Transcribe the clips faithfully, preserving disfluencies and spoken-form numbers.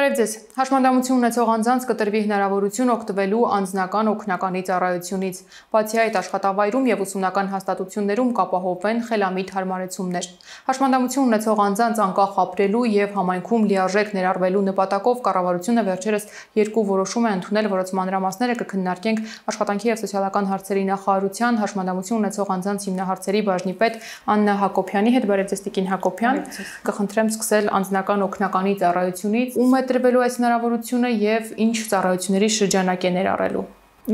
Բարև ձեզ։ Հաշմանդամություն ունեցող անձանց կտրվի հնարավորություն օգտվելու անձնական օգնականի ծառայությունից։ Բացի այդ, աշխատավայրում եւ ուսումնական հաստատություններում կապահովվեն խելամիտ հարմարեցումներ։ Հաշմանդամություն ունեցող անձանց անկախ ապրելու եւ համայնքում լիարժեք ներառվելու նպատակով կառավարությունը վերջերս երկու որոշում է ընդունել, որոնց մանրամասները կքննարկենք աշխատանքի եւ սոցիալական հարցերի նախարարության հաշմանդամություն ունեցող անձանց հիմնահարցերի բաժնի պետ Աննա Հակոբյանի հետ։ Բարև ձեզ, Տիկին Հակոբյան։ Կխնդրեմ սկսել անձնական օգնականի ծառայությունից։ Ում է տրվելու այս հնարավորությունը եւ ինչ ծառայությունների շրջանակ է ներառելու։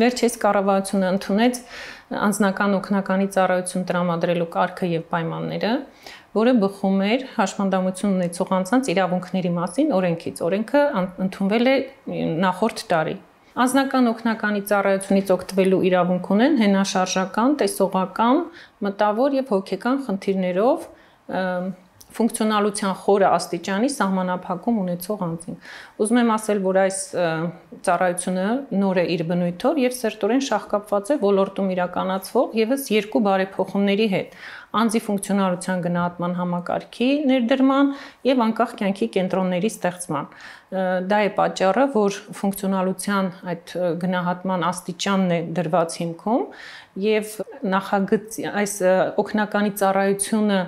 Վերջերս կառավարությունը ընդունեց անձնական օգնականի ծառայություն տրամադրելու կարգը եւ պայմանները, որը բխում էր հաշմանդամություն ունեցող անձանց իրավունքների մասին օրենքից։ Օրենքը ընդունվել է նախորդ տարի։ Անձնական օգնականի ծառայությունից օգտվելու իրավունք ունեն հենաշարժական, տեսողական, մտավոր եւ հոգեկան խնդիրներով ֆունկցիոնալության խորը աստիճանի սահմանափակում ունեցող անձին։ Ուզում եմ ասել, որ այս ծառայությունը նոր է իր բնույթով եւ սերտորեն շահկապված է ոլորտում իրականացվող եւս երկու բարեփոխումների հետ՝ անձի ֆունկցիոնալության գնահատման համակարգի ներդրման եւ անկախ կյանքի կենտրոնների ստեղծման։ Դա է պատճառը, որ ֆունկցիոնալության այդ գնահատման աստիճանն է դրված հիմքում եւ նախագծի այս օգնականի ծառայությունը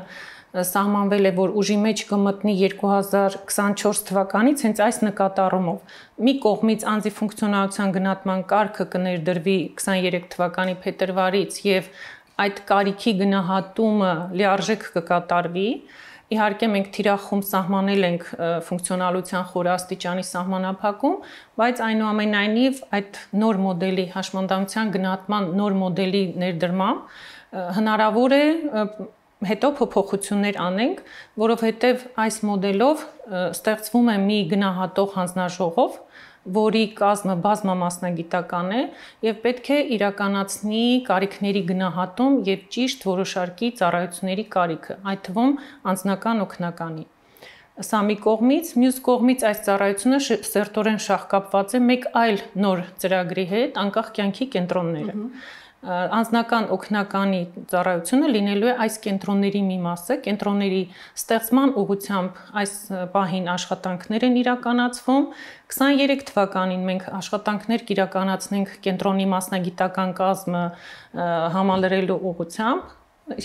սահմանվել է, որ ուժի մեջ կմտնի երկու հազար քսանչորս թվականից հենց այս նկատառումով։ Մի կողմից անձի ֆունկցիոնալության գնահատման կարգը կներդրվի քսաներեք թվականի փետրվարից եւ այդ կարիքի գնահատումը լիարժեք կկատարվի։ Իհարկե մենք թիրախում սահմանել ենք ֆունկցիոնալության խորաստիճանի սահմանափակում, բայց այնուամենայնիվ այդ նոր մոդելի հաշմանդամության գնահատման նոր մոդելի ներդրմամբ հնարավոր է հետո փոփոխություններ անենք, որովհետև այս մոդելով ստեղծվում է մի գնահատող հանձնաժողով, որի կազմը բազմամասնագիտական է եւ պետք է իրականացնի կարիքների գնահատում եւ ճիշտ որոշարկի ծառայությունների կարիքը, այդ թվում անձնական օգնականի։ Սա մի կողմից, մյուս կողմից այս ծառայությունը սերտորեն շահկապված է մեկ այլ նոր ծրագրի հետ, անկախ կյանքի կենտրոնները։ Անձնական օգնականի ծառայությունը լինելու է այս կենտրոնների մի մասը, կենտրոնների ստեղծման ուղղությամբ այս պահին աշխատանքներ են իրականացվում։ քսաներեք թվականին մենք աշխատանքներ կիրականացնենք կենտրոնի մասնագիտական կազմը համալրելու ուղղությամբ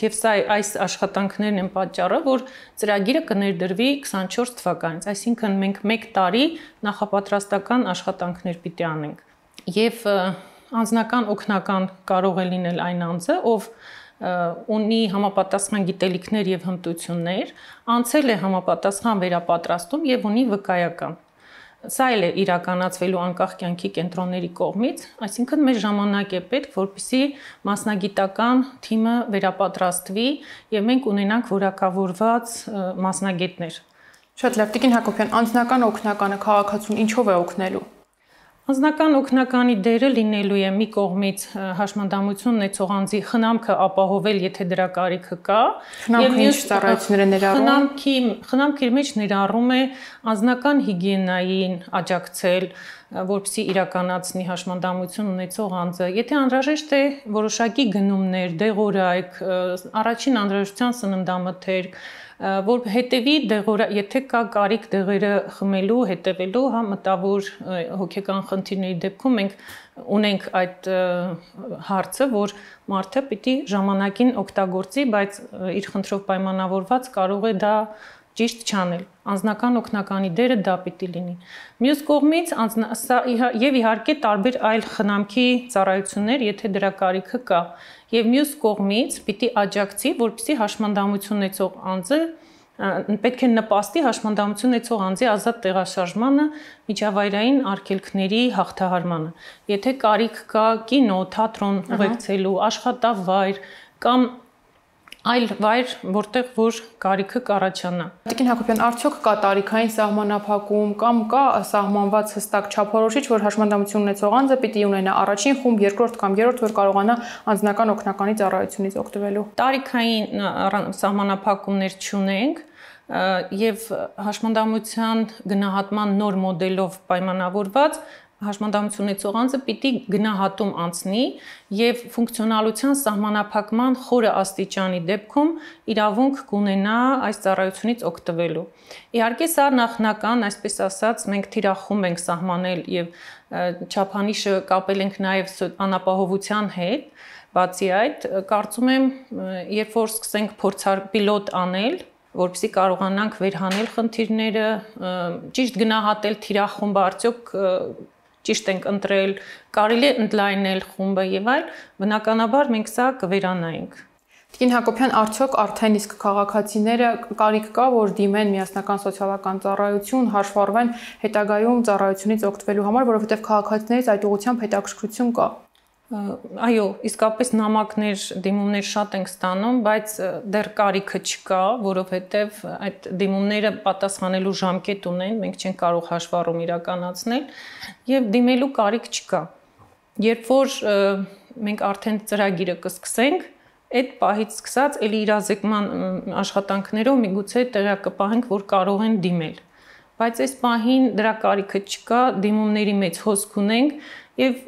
եւ սա այս աշխատանքներն են պատճառը, որ ծրագիրը կներդրվի քսանչորս թվականից, այսինքն մենք մեկ տարի նախապատրաստական աշխատանքներ պիտի անենք։ Եվ անձնական օգնական կարող է լինել այն անձը, ով ունի համապատասխան գիտելիքներ եւ հմտություններ, անցել է համապատասխան վերապատրաստում եւ ունի վկայական։ Սա էլ է իրականացվելու անկախ կյանքի կենտրոնների կողմից, այսինքն մեր ժամանակ է պետք, որպեսզի մասնագիտական թիմը վերապատրաստվի եւ մենք ունենանք որակավորված մասնագետներ։ Շատ լավ, Տիկին Հակոբյան, անձնական օգնականը քաղաքացուն ինչով է օգնելու։ Անձնական օգնականի դերը լինելու է մի կողմից հաշմանդամություն ունեցող անձի խնամքը ապահովել, եթե դրա կարիքը կա, եւ մյուս ծառայությունները ներառում։ Խնամքի խնամքի մեջ ներառում է անձնական հիգիենային աջակցել, որպեսզի իրականացնի հաշմանդամություն ունեցող անձը։ Եթե անհրաժեշտ է որոշակի գնումներ, դեղորայք, առաջին անհրաժեշտության սննդամթերք, որ հետևի դեղորա, եթե կա կարիք դեղերը խմելու, հետևելու, հա մտավոր հոգեկան խնդիրների դեպքում մենք ունենք այդ հարցը, որ մարդը պիտի ժամանակին օգտագործի, բայց իր խնդրով պայմանավորված կարող է դա ճիշտ չանել։ Անձնական օգնականի դերը դա պիտի լինի։ Մյուս կողմից եւ իհարկե տարբեր այլ խնամքի ծառայություններ, եթե դրա կարիքը կա։ Եվ մյուս կողմից պիտի աջակցի, որպեսզի հաշմանդամություն ունեցող անձը պետք է նպաստի հաշմանդամություն ունեցող անձի ազատ տեղաշարժմանը, միջավայրային արգելքների հաղթահարմանը։ Եթե կարիք կա կինո, թատրոն ուղեկցելու, աշխատավայր կամ այլ վայր, որտեղ որ կարիքը կառաջանա։ Տիկին Հակոբյան, արդյոք կա տարիքային սահմանափակում կամ կա սահմանված հստակ չափորոշիչ, որ հաշմանդամություն ունեցող անձը պիտի ունենա առաջին խումբ, երկրորդ կամ երրորդ, որ կարողանա անձնական օգնականի ծառայությունից օգտվելու։ Տարիքային սահմանափակումներ չունենք եւ հաշմանդամության գնահատման նոր մոդելով պայմանավորված հաշմանդամություն ունեցող անձը պիտի գնահատում անցնի եւ ֆունկցիոնալության սահմանափակման խորը աստիճանի դեպքում իրավունք կունենա այս ծառայությունից օգտվելու։ Իհարկե սա նախնական, այսպես ասած, մենք թիրախում ենք սահմանել եւ չափանիշը կապել ենք նաեւ անապահովության հետ, բացի այդ, կարծում եմ, երբ որ սկսենք փորձար պիլոտ անել, որպեսզի կարողանանք վերհանել խնդիրները, ճիշտ գնահատել թիրախումբը, արդյոք ճիշտ ենք ընտրել, կարելի է ընդլայնել խումբը եւ այլ, բնականաբար մենք սա կվերանայինք։ Տիկին Հակոբյան, արդյոք արդեն իսկ քաղաքացիները կարիք կա, որ դիմեն միասնական սոցիալական ծառայություն, հաշվառվեն հետագայում ծառայությունից օգտվելու համար, որովհետեւ քաղաքացիներից այդ ուղղությամբ հետաքրքրություն կա։ Այո, իսկապես նամակներ, դիմումներ շատ ենք ստանում, բայց դեռ կարիքը չկա, որովհետև այդ դիմումները պատասխանելու ժամկետ ունեն, մենք չենք կարող հաշվառում իրականացնել եւ դիմելու կարիք չկա։ Երբ որ մենք արդեն ծրագիրը կսկսենք, այդ պահից սկսած էլի իրազեկման աշխատանքներով միգուցե տեղյակ կպահենք, որ կարող են դիմել։ Բայց այս պահին դրա կարիքը չկա, դիմումների մեծ հոսք ունենք եւ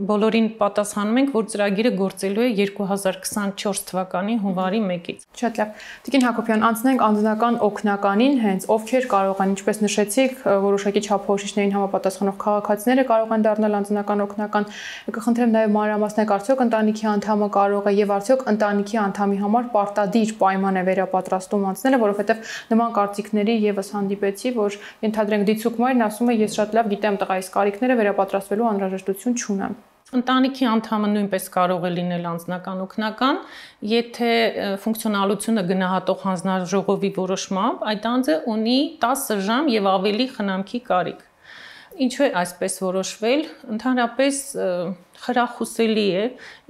բոլորին պատասխանում ենք, որ ծրագիրը գործելու է երկու հազար քսանչորս թվականի հունվարի մեկից։ Շատ լավ։ Տիկին Հակոբյան, անցնենք անձնական օգնականին, հենց ովքեր կարող են, ինչպես նշեցիք, որոշակի չափորոշիչներին համապատասխանող քաղաքացիները կարող են դառնալ անձնական օգնական։ Կխնդրեմ նաեւ մանրամասնել, արդյոք ընտանիքի անդամը կարող է եւ արդյոք ընտանիքի անդամի համար պարտադիր պայման է վերապատրաստում անցնելը, որովհետեւ նման կարծիքների եւս հանդիպեցի, որ ենթադրենք դիցուկ մայրն ասում է, ես շատ լավ գիտեմ տղայիս կարիքները, վերապատրաստվելու անհրաժեշտություն չունեմ։ Ընտանիքի անդամը նույնպես կարող է լինել անձնական օգնական, եթե ֆունկցիոնալությունը գնահատող հանձնաժողովի որոշմամբ այդ անձը ունի տասը ժամ եւ ավելի խնամքի կարիք։ Ինչու է այսպես որոշվել, ընդհանրապես խրախուսելի է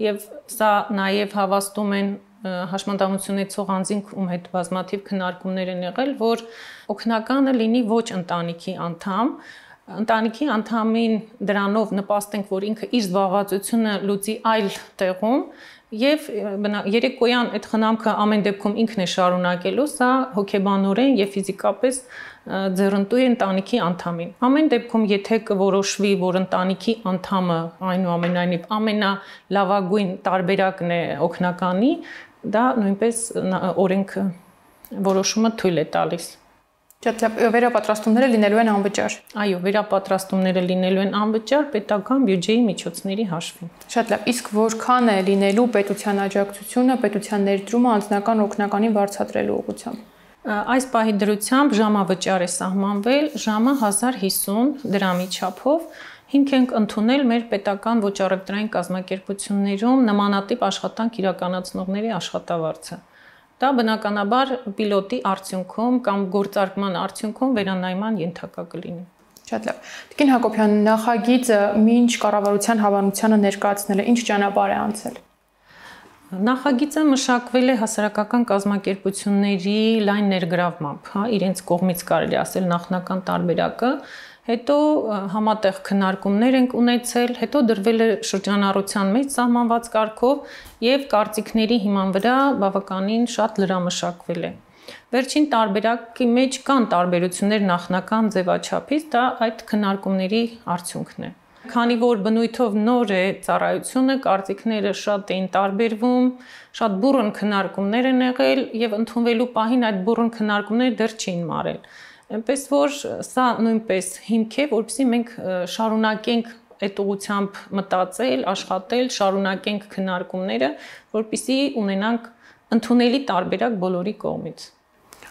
եւ սա նաեւ հավաստում են հաշմանդամություն ունեցող անձինք, ում հետ բազմաթիվ քննարկումներ են եղել, որ օգնականը լինի ոչ ընտանիքի անդամ, ընտանիքի անդամին դրանով նպաստենք, որ ինքը իր զբաղվածությունը լուծի այլ տեղում եւ երեկոյան այդ խնամքը ամեն դեպքում ինքն է շարունակելու, սա հոգեբանորեն եւ ֆիզիկապես ձեռնտու է ընտանիքի անդամին։ Ամեն դեպքում, եթե կորոշվի, որ ընտանիքի անդամը այնուամենայնիվ ամենալավագույն տարբերակն է օգնականի, դա նույնպես օրենքը որոշումը թույլ է տալիս։ Շատ լավ, վերապատրաստումները լինելու են անվճար։ Այո, վերապատրաստումները լինելու են անվճար պետական բյուջեի միջոցների հաշվին։ Շատ լավ, իսկ որքան է լինելու պետության աջակցությունը, պետության ներդրումը անձնական օգնականին վարձատրելու ուղղությամբ։ Այս պահի դրությամբ ժամավճար է սահմանվել, ժամը հազար հիսուն դրամի չափով։ Հիմք ենք ընդունել մեր պետական ոչ առևտրային կազմակերպություններում նմանատիպ աշխատանք իրականացնողների աշխատավարձը։ Դա բնականաբար պիլոտի արդյունքում կամ գործարկման արդյունքում վերանայման ենթակա կլինի։ Շատ լավ։ Տիկին Հակոբյան, նախագիծը մինչ կառավարության հավանությանը ներկայացնել է, ինչ ճանապարհ է անցել։ Նախագիծը մշակվել է հասարակական կազմակերպությունների լայն ներգրավմամբ, հա, իրենց կողմից կարելի ասել նախնական տարբերակը, հետո համատեղ քննարկումներ ենք ունեցել, հետո դրվել է շրջանառության մեջ սահմանված կարգով եւ կարծիքների հիման վրա բավականին շատ լրամշակվել է։ Վերջին տարբերակի մեջ կան տարբերություններ նախնական ձևաչափից, դա այդ քննարկումների արդյունքն է։ Քանի որ բնույթով նոր է ծառայությունը, կարծիքները շատ էին տարբերվում, շատ բուռն քննարկումներ են եղել եւ ընդունվելու պահին այդ բուռն քննարկումները դեռ չէին մարել։ Այնպես որ սա նույնպես հիմք է, որպեսզի մենք շարունակենք այդ ուղղությամբ մտածել, աշխատել, շարունակենք քննարկումները, որպեսզի ունենանք ընդունելի տարբերակ բոլորի կողմից։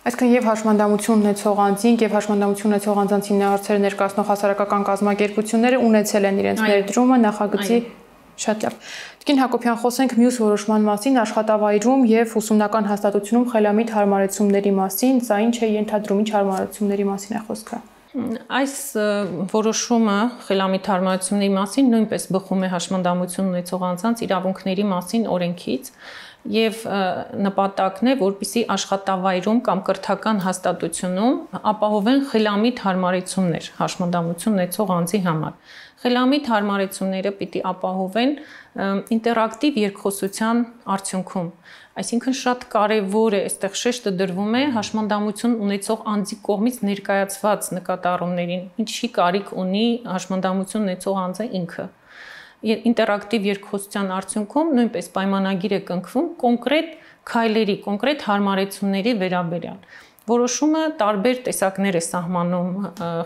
Այսինքն եւ հաշմանդամություն ունեցող անձինք եւ հաշմանդամություն ունեցող անձանց հիմնարարցերը ներկայացնող հասարակական կազմակերպությունները ունեցել են իրենց ներդրումը նախագծի։ Շատ լավ։ Տիկին Հակոբյան, խոսենք մյուս որոշման մասին, աշխատավայրում եւ ուսումնական հաստատությունում խելամիտ հարմարեցումների մասին, սա ինչ է ենթադրում, ինչ հարմարեցումների մասին է խոսքը։ Այս որոշումը խելամիտ հարմարեցումների մասին նույնպես բխում է հաշմանդամություն ունեցող անձանց իրավունքների մասին օրենքից եւ նպատակն է, որպեսզի աշխատավայրում կամ կրթական հաստատությունում ապահովեն խելամիտ հարմարեցումներ հաշմանդամություն ունեցող անձի համար։ Խելամիտ հարմարեցումները պիտի ապահովեն ինտերակտիվ երկխոսության արդյունքում։ Այսինքն շատ կարևոր է, այստեղ շեշտը դրվում է հաշմանդամություն ունեցող անձի կողմից ներկայացված նկատառումներին, ինչի կարիք ունի հաշմանդամություն ունեցող անձը ինքը։ Ինտերակտիվ երկխոսության արդյունքում նույնպես պայմանագիր է կնքվում կոնկրետ քայլերի, կոնկրետ հարմարեցումների վերաբերյալ։ Որոշումը տարբեր տեսակներ է սահմանում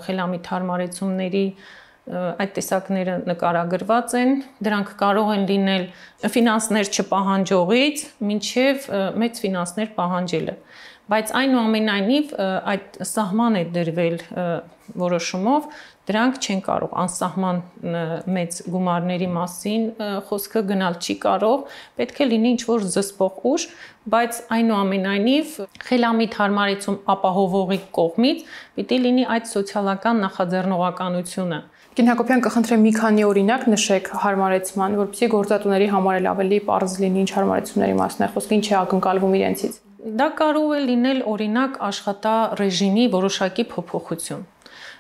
խելամիտ հարմարեցումների, այդ տեսակները նկարագրված են, դրանք կարող են լինել ֆինանսներ չպահանջողից մինչև մեծ ֆինանսներ պահանջելը, բայց այնուամենայնիվ այդ սահման է դրվել որոշումով, դրանք չեն կարող անսահման մեծ գումարների մասին խոսքը գնալ չի կարող, պետք է լինի ինչ-որ զսպող ուժ, բայց այնուամենայնիվ խելամիտ հարմարեցում ապահովողի կողմից պիտի լինի այդ սոցիալական նախաձեռնողականությունը։ Կին Հակոբյան, կխնդրեմ մի քանի օրինակ նշեք հարմարեցման, որպեսզի գործատուների համար էլ ավելի պարզ լինի ինչ հարմարեցումների մասն է խոսքը, ինչ է ակնկալվում իրենցից։ Դա կարող է լինել օրինակ աշխատառեժիմի որոշակի փոփոխություն։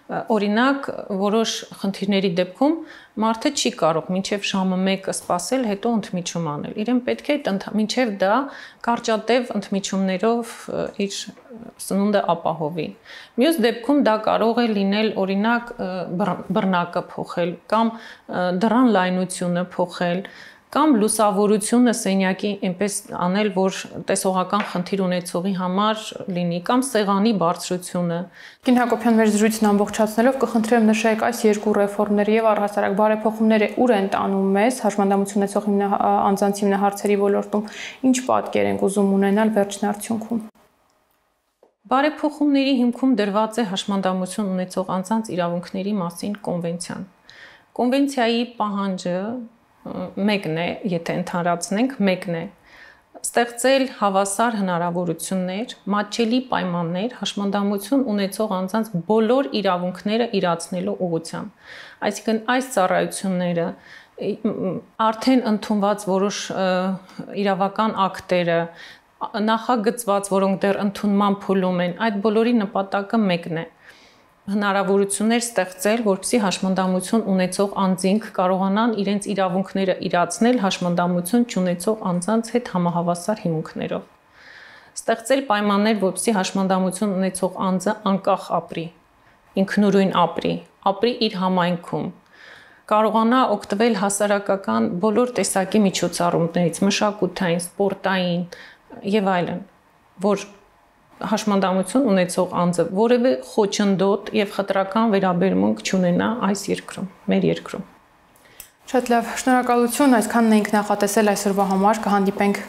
Օրինակ, որոշ խնդիրների դեպքում մարդը չի կարող մինչև ժամը մեկը սպասել, հետո ընդմիջում անել։ Իրեն պետք է մինչև դա կարճատև ընդմիջումներով իր սնունդը ապահովի։ Մյուս դեպքում դա կարող է լինել օրինակ բռնակը փոխել կամ դռան լայնությունը փոխել, կամ լուսավորությունը սենյակի այնպես անել, որ տեսողական խնդիր ունեցողի համար լինի, կամ սեղանի բարձրությունը։ Կին Հակոբյան, մեր զրույցն ամբողջացնելով կխնդրեմ նշեք այս երկու ռեֆորմները եւ առհասարակ բարեփոխումները ուր են տանում մեզ հաշմանդամություն ունեցող անձանց հիմնահարցերի ոլորտում, ինչ պատկեր ենք ուզում ունենալ վերջին արդյունքում։ Բարեփոխումների հիմքում դրված է հաշմանդամություն ունեցող անձանց իրավունքների մասին կոնվենցիան։ Կոնվենցիայի պահանջը մեկն է, եթե ընդհանրացնենք, մեկն է ստեղծել հավասար հնարավորություններ, մատչելի պայմաններ հաշմանդամություն ունեցող անձանց բոլոր իրավունքները իրացնելու ուղղությամբ։ Այսինքն այս ծառայությունները արդեն ընդունված որոշ իրավական ակտերը, նախագծված, որոնք դեռ ընդունման փուլում են, այդ բոլորի նպատակը մեկն է։ Հնարավորություններ ստեղծել, որպեսզի հաշմանդամություն ունեցող անձինք կարողանան իրենց իրավունքները իրացնել հաշմանդամություն չունեցող անձանց հետ համահավասար հիմունքներով։ Ստեղծել պայմաններ, որպեսզի հաշմանդամություն ունեցող անձը անկախ ապրի, ինքնուրույն ապրի, ապրի իր համայնքում, կարողանա օգտվել հասարակական բոլոր տեսակի միջոցառումներից, մշակութային, սպորտային եւ այլն, որ հաշմանդամություն ունեցող անձը որևէ խոչընդոտ եւ խտրական վերաբերմունք չունենա այս երկրում, մեր երկրում։ Շատ լավ, շնորհակալություն, այսքանն ենք նախատեսել այսօրվա համար, կհանդիպենք